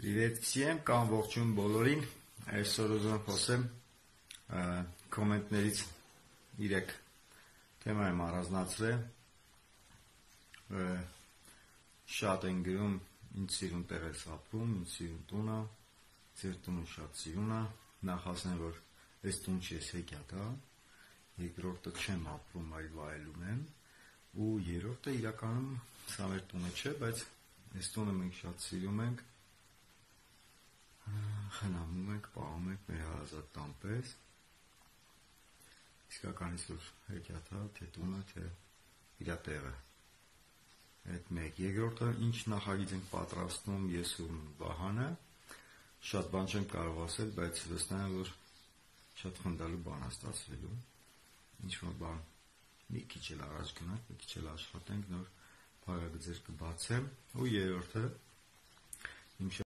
Привет всем, կամ ողջույն բոլորին, այսօր ուզում եմ խոսեմ կոմենտներից 3 թեմա եմ առանձնացրել, շատ են գրում, ինձ սիրուն տեղ ես ապրում, ինձ սիրուն տունը, ձեր տունը շատ սիրուն է, նախ ասեմ, որ այս տուն չի, ես հեքիաթ է, երկրորդը չեմ ապրում, այլ վայելում եմ, ու երրորդը իրականում սա մեր տունը չէ, բայց այս տունը մենք շատ սիրում ենք, խնամում ենք, պահում ենք մեր հարազատ տան պես, իսկականից որ հեքիաթա, թե տունը, թե իրա տեղը, այդ մեկ, երկրորդը ինչ նախագիծ ենք պատրաստում ես ու Վահանը, շատ բան չեմ կարող ասել, բայց վստահ եմ, որ շատ խնդալու բան է ստացվելու, ինչ-որ բան մի քիչ էլ առաջ գնանք, մի քիչ էլ աշխատենք, նոր փակագծեր կբացեմ, ու երրորդը իմ